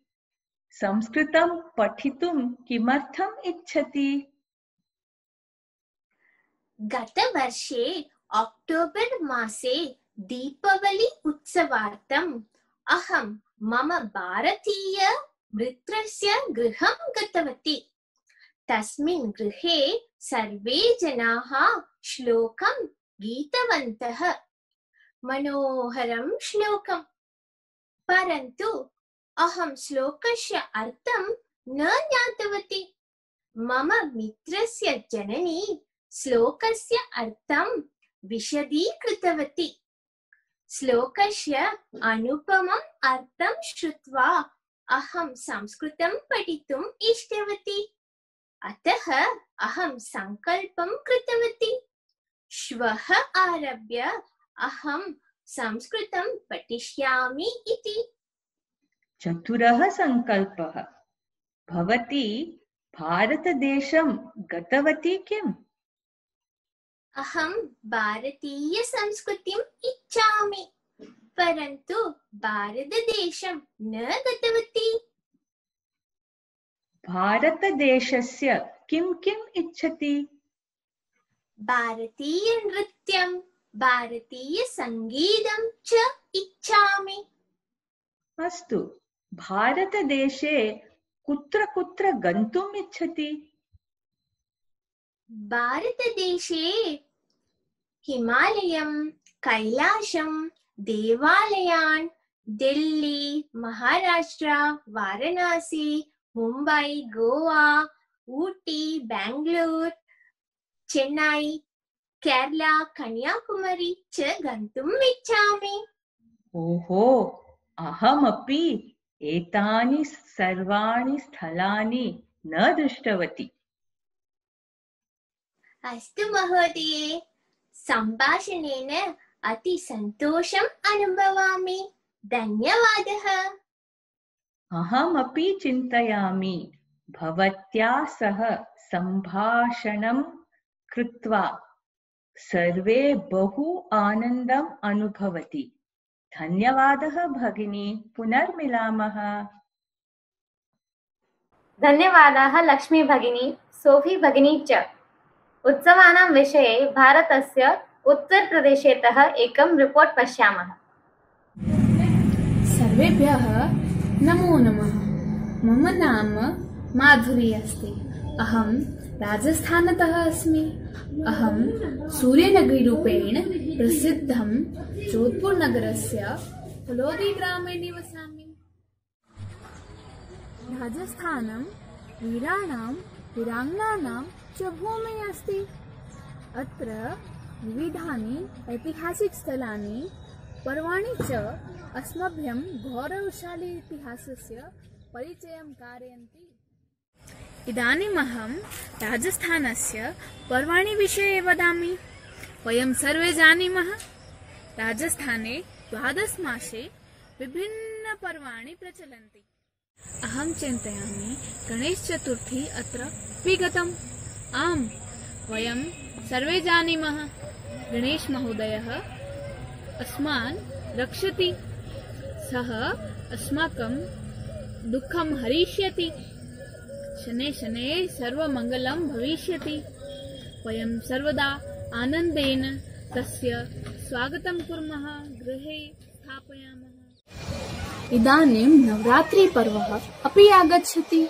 संस्कृतं पठितुं किमर्थम् इच्छति? गतवर्षे अक्टोबर् मासे दीपावली उत्सवार्थम् अहं मम भारतीय मित्रस्य गृहं गतवती। तस्मिन् गृहे सर्वे जनाः श्लोकं गीतवन्तः। मनोहरं श्लोकम्। परन्तु अहं श्लोकस्य अर्थं न ज्ञातवती। मम मित्रस्य जननी श्लोकस्य अर्थं विशदीकृतवती। श्लोकस्य अनुपमम् अर्थं श्रुत्वा अहं संस्कृतं पठितुम् इष्टवती। अतः अहं सङ्कल्पं कृतवती। श्वः आरभ्य अहं संस्कृतं पठिष्यामि इति। चतुरः सङ्कल्पः। भवती भारतदेशं गतवती किम्? अहं भारतीयसंस्कृतिम् इच्छामि, परन्तु भारतदेशं न गतवती। भारतदेशस्य किं किम् इच्छति? भारतीयनृत्यं भारतीयसङ्गीतं च इच्छामि। अस्तु, भारतदेशे कुत्र कुत्र गन्तुम् इच्छति? भारतदेशे हिमालयं, कैलाशं, देवालयान्, दिल्ली, महाराष्ट्र, वाराणसी, मुम्बै, गोवा, ऊटी, बेंगलूर, चेन्नै, केरला, कन्याकुमारी च गन्तुम् इच्छामि। ओहो, अहमपि एतानि सर्वाणि स्थलानि न दृष्टवती। अस्तु महोदये, सम्भाषणेन अति सन्तोषम् अनुभवामि। धन्यवादः। अहमपि चिन्तयामि, भवत्या सह सम्भाषणं कृत्वा सर्वे बहु आनन्दम् अनुभवति। धन्यवादः भगिनी, पुनर्मिलामः। धन्यवादाः लक्ष्मी भगिनी, सोफी भगिनी च। उत्सवानां विषये भारतस्य उत्तरप्रदेशतः एकं रिपोर्ट् पश्यामः। सर्वेभ्यः नमो नमः। मम नाम माधुरी अस्ति। अहं राजस्थानतः अस्मि। अहं सूर्यनगरीरूपेण प्रसिद्धं जोधपुरनगरस्य फलोदीग्रामे निवसामि। राजस्थानं वीराणां वीराङ्गनानां च भूमिः अस्ति। अत्र विविधानि ऐतिहासिकस्थलानि पर्वाणि च अस्मभ्यं गौरवशाली इतिहासस्य परिचयं कारयन्ति। इदानीम् अहं राजस्थानस्य पर्वाणि विषये वदामि। वयं सर्वे जानीमः, राजस्थाने द्वादश मासे विभिन्नपर्वाणि प्रचलन्ति। अहं चिन्तयामि गणेशचतुर्थी अत्र विगतम्। आम्, वयं सर्वे जानीमः, गणेशमहोदयः अस्मान् रक्षति। सः अस्माकं दुःखं हरिष्यति। शनैः शनैः सर्वमङ्गलं भविष्यति। वयं सर्वदा आनन्देन तस्य स्वागतं कुर्मः, गृहे स्थापयामः। इदानीं नवरात्रिपर्वः अपि आगच्छति।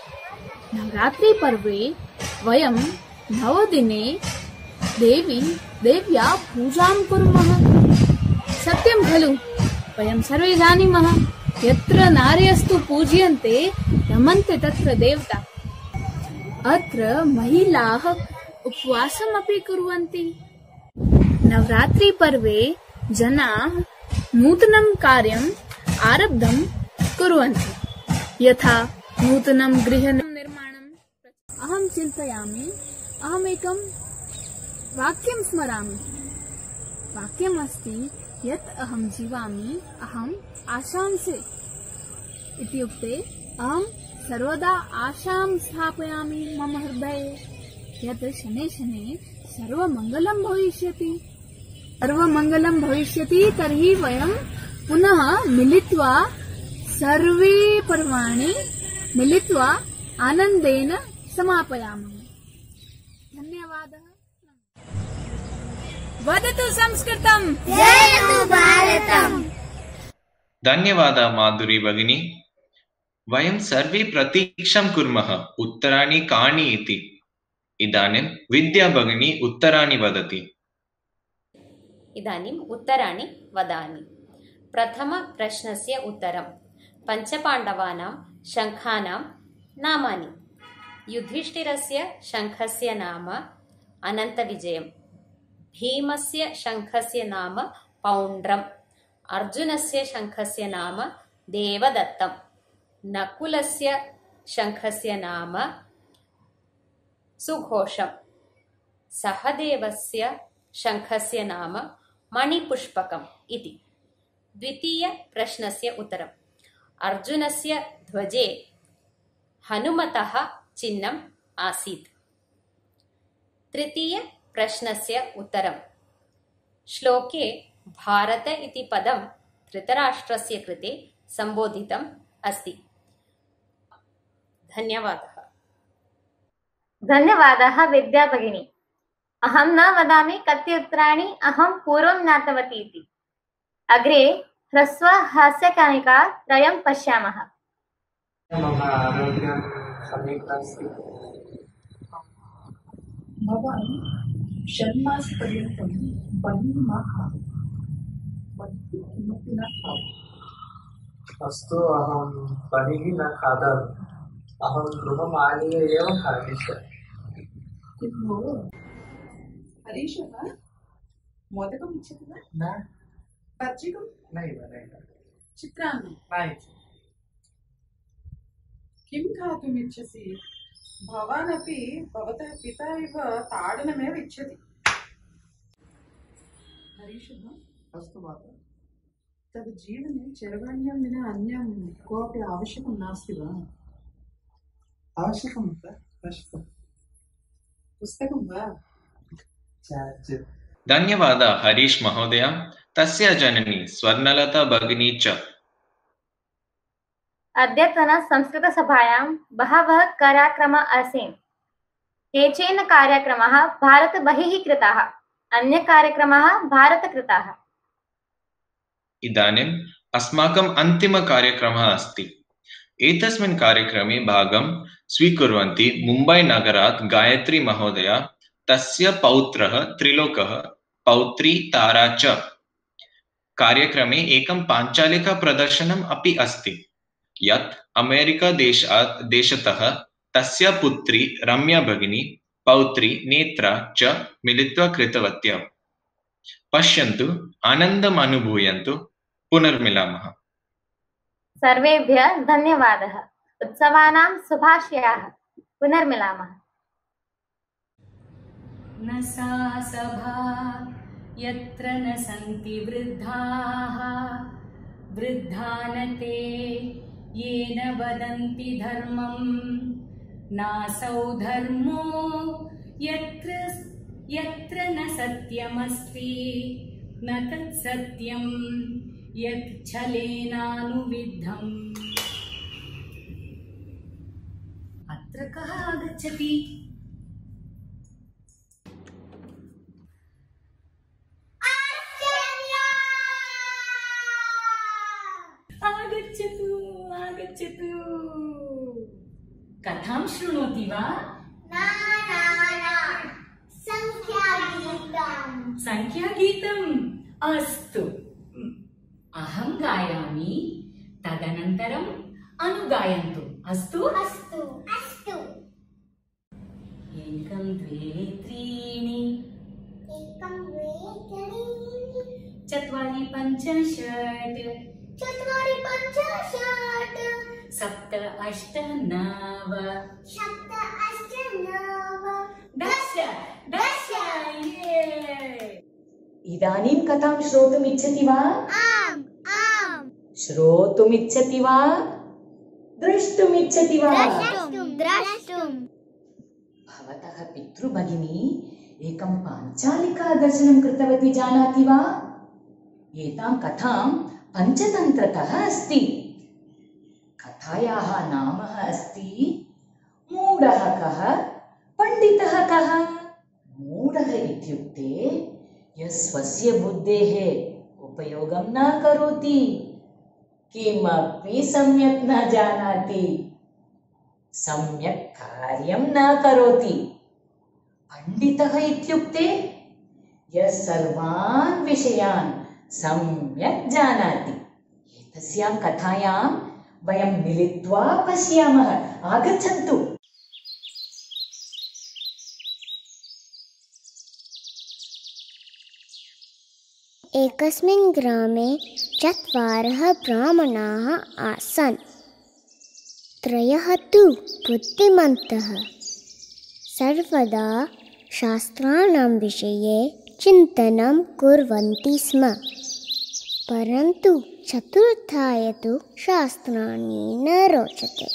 नवरात्रिपर्वे वयं नवदिने देवी देव्या पूजां कुर्मः। सत्यं खलु? वयं सर्वे जानीमः, यत्र नार्यस्तु पूज्यन्ते रमन्ते तत्र देवता। अत्र महिलाः उपवासमपि कुर्वन्ति। नवरात्रिपर्वे जनाः नूतनं कार्यम् आरब्धं कुर्वन्ति, यथा नूतनं गृहनिर्माणम्। अहं चिन्तयामि, अहमेकं वाक्यं स्मरामि। वाक्यमस्ति, यत् अहं जीवामि अहम् आशांसे। इत्युक्ते अहं सर्वदा आशां स्थापयामि मम हृदये, यत् शनैः शनैः सर्वमङ्गलं भविष्यति। सर्वमङ्गलं भविष्यति तर्हि वयं पुनः मिलित्वा सर्वे पर्वाणि मिलित्वा आनन्देन समापयामः। धन्यवादः। वदतु संस्कृतं, जयतु भारतम्। धन्यवादः माधुरी भगिनी। वयं सर्वे प्रतीक्षां कुर्मः उत्तराणि कानि इति। इदानीं विद्या भगिनी उत्तराणि वदति। इदानीम् उत्तराणि वदामि। प्रथमप्रश्नस्य उत्तरं। पञ्चपाण्डवानां शङ्खानां नामानि। युधिष्ठिरस्य शङ्खस्य नाम अनन्तविजयम्। भीमस्य शङ्खस्य नाम पौण्ड्रम्। अर्जुनस्य शङ्खस्य नाम देवदत्तम्। नकुलस्य शङ्खस्य नाम सुघोषम्। सहदेवस्य शङ्खस्य नाम मणिपुष्पकम् इति। द्वितीयप्रश्नस्य उत्तरम्। अर्जुनस्य ध्वजे हनुमतः चिह्नम् आसीत्। तृतीयप्रश्नस्य उत्तरम्। श्लोके भारत इति पदं धृतराष्ट्रस्य कृते सम्बोधितम् अस्ति। धन्यवादः। धन्यवादाः विद्या भगिनी। अहं न वदामि कति उत्तराणि अहं पूर्वं ज्ञातवती इति। अग्रे ह्रस्व हास्यकणिका त्रयं पश्यामः। मम आरोग्यं सम्यक् नास्ति। भवान् षण्मासपर्यन्तं बहिः मा खादतु। बहिः किमपि न खादतु। अस्तु, अहं बहिः न खादामि। अहं गृहम् आनीय एव खादिष्यामि। किं भो हरीशः मोदकम् इच्छति वा? न। पच्चिकं? नैव नैव। चित्रान्नं? न। किं खादितुम् इच्छसि? भवान् अपि भवतः पिता इव ताडनमेव इच्छति। हरीशः, अस्तु माता। तव जीवने चरवाण्यां विना अन्यं कोऽपि आवश्यकं नास्ति वा? आवश्यकं वा? अस्तु। पुस्तकं वा? धन्यवादः हरीश महोदय। तस्य जननी स्वर्णलता भगिनी च। अद्यतन संस्कृतसभायां बहवः कार्यक्रमाः आसन्। केचन कार्यक्रमाः भारतबहिः कृताः, अन्यकार्यक्रमाः भारतकृताः। इदानीम् अस्माकम् अन्तिमकार्यक्रमः अस्ति। एतस्मिन् कार्यक्रमे भागं स्वीकुर्वन्ति मुम्बईनगरात् गायत्री महोदया, तस्य पौत्रः त्रिलोकः, पौत्री तारा च। कार्यक्रमे एकं पाञ्चालिकाप्रदर्शनम् अपि अस्ति यत् अमेरिकादेशात् देशतः तस्य पुत्री रम्या भगिनी, पौत्री नेत्रा च मिलित्वा कृतवत्यः। पश्यन्तु, आनन्दम् अनुभूयन्तु। पुनर्मिलामः। सर्वेभ्यः धन्यवादः। उत्सवानां शुभाशयाः। पुनर्मिलामः। न सा सभा यत्र न सन्ति वृद्धाः, वृद्धानते येन वदन्ति धर्मं, नासौ धर्मो यत्र यत्र न सत्यमस्ति, न तत् सत्यं यत् छलेनानुविद्धम्। अत्र कः आगच्छति? आगच्छतु आगच्छतु। कथां शृणोति वा? संख्यागीतम्। संख्यागीतम्? अस्तु, अहं गायामि, तदनन्तरम् अनुगायन्तु। अस्तु अस्तु अस्तु। एकं द्वे त्रीणि, एकं द्वे त्रीणि, चत्वारि पञ्च षट्, चत्वारि पञ्च षट्, सप्त अष्ट नव, सप्त अष्ट नव, दश दश। इदानीं कथां श्रोतुम् इच्छति वा? आम् आम्। श्रोतुम् इच्छति वा? द्रष्टुम् इच्छति वा? द्रष्टुम् द्रष्टुम्। भवतः पितृभगिनी एकं पाञ्चालिका दर्शनं कृतवती, जानाति वा? एतां कथां पञ्चतन्त्रतः अस्ति। कथायाः नाम अस्ति मूढः कः, पण्डितः कः। मूढः इत्युक्ते यः स्वस्य बुद्धेः उपयोगं न करोति, किमपि सम्यक् न जानाति, सम्यक् कार्यं न करोति। पण्डितः इत्युक्ते यः सर्वान् विषयान् सम्यक् जानाति। एतस्यां कथायां वयं मिलित्वा पश्यामः। आगच्छन्तु। एकस्मिन् ग्रामे चत्वारः ब्राह्मणाः आसन्। त्रयः तु बुद्धिमन्तः, सर्वदा शास्त्राणां विषये चिन्तनं कुर्वन्ति स्म। परन्तु चतुर्थाय तु शास्त्राणि न रोचते।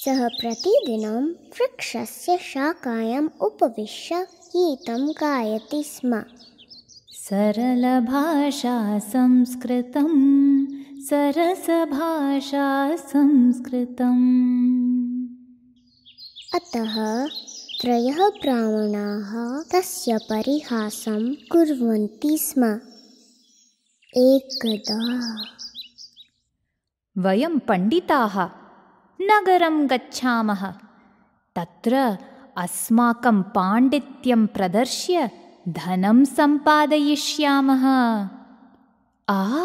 सः प्रतिदिनं वृक्षस्य शाखायाम् उपविश्य गीतं गायति स्म। सरलभाषा संस्कृतं, सरसभाषा संस्कृतम्। अतः त्रयः ब्राह्मणाः तस्य परिहासं कुर्वन्ति स्म। एकदा वयं पण्डिताः नगरं गच्छामः, तत्र अस्माकं पाण्डित्यं प्रदर्श्य धनं सम्पादयिष्यामः। आ,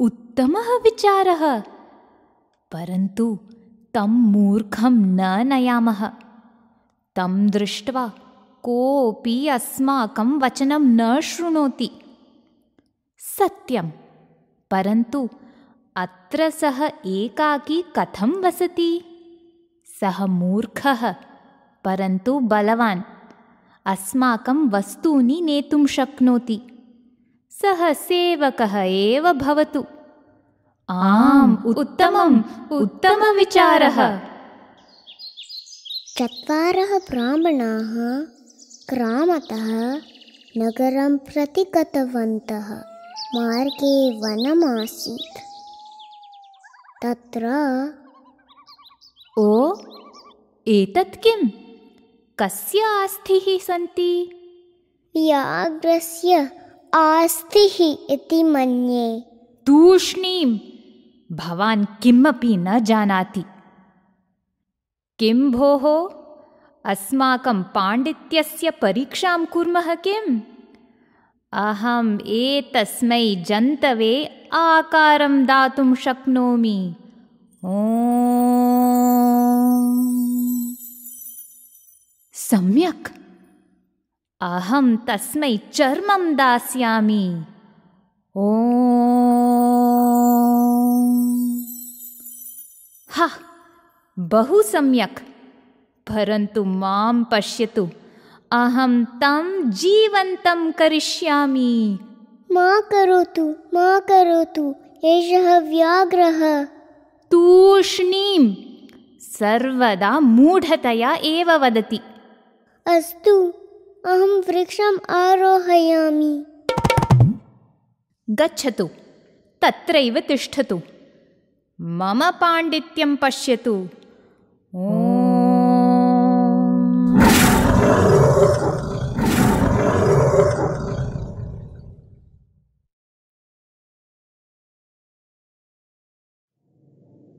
उत्तमः विचारः, परन्तु तं मूर्खं न नयामः। तं दृष्ट्वा कोऽपि अस्माकं वचनं न शृणोति। सत्यं, परन्तु अत्र सः एकाकी कथं वसति? सः मूर्खः परन्तु बलवान्, अस्माकं वस्तूनि नेतुं शक्नोति। सः सेवकः एव भवतु। आम्, उत्तमम्, उत्तमविचारः। चत्वारः ब्राह्मणाः ग्रामतः नगरं प्रति गतवन्तः। मार्गे वनमासीत्। तत्र ओ, एतत् किम्? कस्य आस्थिः सन्ति? व्याघ्रस्य आस्थिः इति मन्ये। तूष्णीं, भवान् किमपि न जानाति। किं भोः, अस्माकं पाण्डित्यस्य परीक्षां कुर्मः किम्? अहम् एतस्मै जन्तवे आकारं दातुं शक्नोमि। ओम्। सम्यक्, अहं तस्मै चर्मं दास्यामि। ओम्। हा, बहु सम्यक्, परन्तु मां पश्यतु, अहं तं जीवन्तं करिष्यामि। मा करोतु, मा करोतु, एषः व्याघ्रः। तूष्णीं, सर्वदा मूढतया एव वदति। अस्तु, अहं वृक्षम् आरोहयामि। गच्छतु, तत्रैव तिष्ठतु, मम पाण्डित्यं पश्यतु।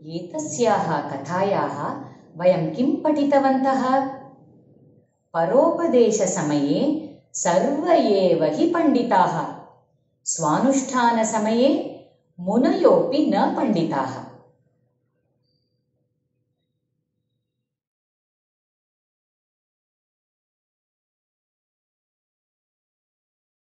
एतस्याः कथायाः वयं किं पठितवन्तः? परोपदेशसमये सर्व एव हि पण्डिताः, स्वानुष्ठानसमये मुनयोऽपि न पण्डिताः।